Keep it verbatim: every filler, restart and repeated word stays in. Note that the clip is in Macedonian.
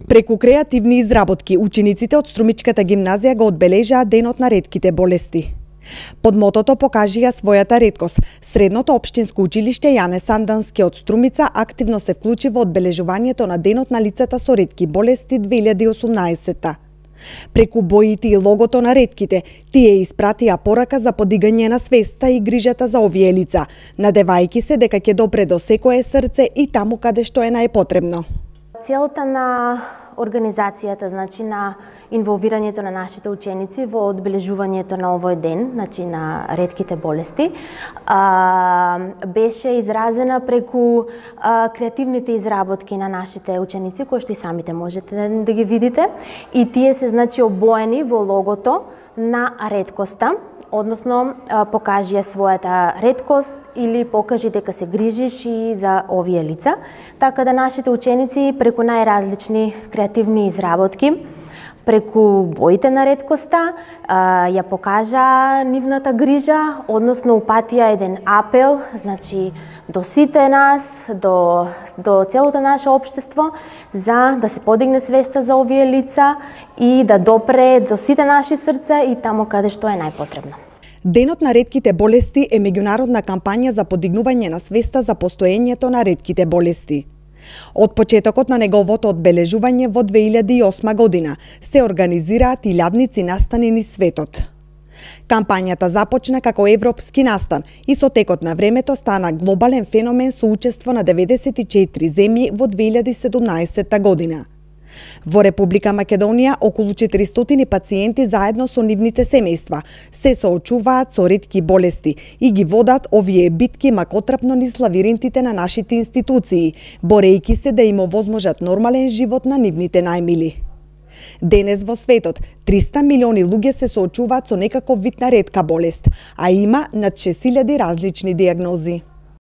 Преку креативни изработки, учениците од Струмичката гимназија го одбележаа Денот на ретките болести. Под мотото покажија својата реткост. Средното општинско училиште Јане Сандански од Струмица активно се вклучи во одбележувањето на Денот на лицата со ретки болести две илјади и осумнаесетта. Преку боите и логото на ретките, тие испратија порака за подигање на свеста и грижата за овие лица, надевајќи се дека ќе допре до секое срце и таму каде што е најпотребно. Целта на организацијата, значи на инволвирањето на нашите ученици во одбележувањето на овој ден, значи на ретките болести, а, беше изразена преку а, креативните изработки на нашите ученици, кои што и самите можете да ги видите, и тие се значи обоени во логото на реткоста, односно покажи својата реткост или покажи дека се грижиш и за овие лица, така да нашите ученици преку најразлични креативни изработки, преку боите на реткоста, ја покажа нивната грижа, односно упатија еден апел, значи до сите нас, до, до целото наше општество, за да се подигне свеста за овие лица и да допре до сите наши срца и таму каде што е најпотребно. Денот на ретките болести е меѓународна кампања за подигнување на свеста за постоењето на ретките болести. Од почетокот на неговото одбележување во две илјади и осма година се организираат илјадници настани низ светот. Кампањата започна како европски настан и со текот на времето стана глобален феномен со учество на деветдесет и четири земји во две илјади и седумнаесетта година. Во Република Македонија околу четиристотини пациенти заедно со нивните семејства се соочуваат со ретки болести и ги водат овие битки макотрапно низ лавиринтите на нашите институции, борејќи се да им овозможат нормален живот на нивните најмили. Денес во светот триста милиони луѓе се соочуваат со некаков вид на ретка болест, а има над шест илјади различни дијагнози.